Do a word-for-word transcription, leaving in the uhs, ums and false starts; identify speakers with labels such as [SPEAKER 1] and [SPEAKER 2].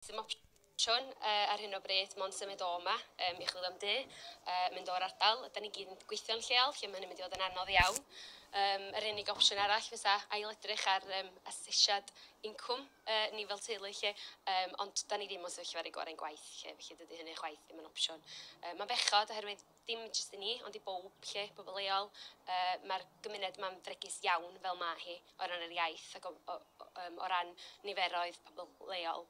[SPEAKER 1] Dim opsiwn uh, ar hyn o bryd, mond symud o yma um, i chwilio am dŷ, uh, mynd o'r ardal. Da ni gyd yn gweithio'n lleol, lle mae hynny'n mynd i fod yn anodd iawn. Um, yr unig opsiwn arall fysa ail edrych ar um, asesiad incwm uh, ni fel teulu lle, um, ond da ni ddim yn sefyllfa ar ei gorau'n gwaith lle, felly dydy hynny chwaith ddim yn opsiwn. Uh, mae'n bechod oherwydd dim jyst i ni, ond i bob lle, bobl leol. Uh, Mae'r gymuned ma'n fregus iawn fel ma hi o ran yr iaith ac o, o, o, um, o ran niferoedd pobl leol.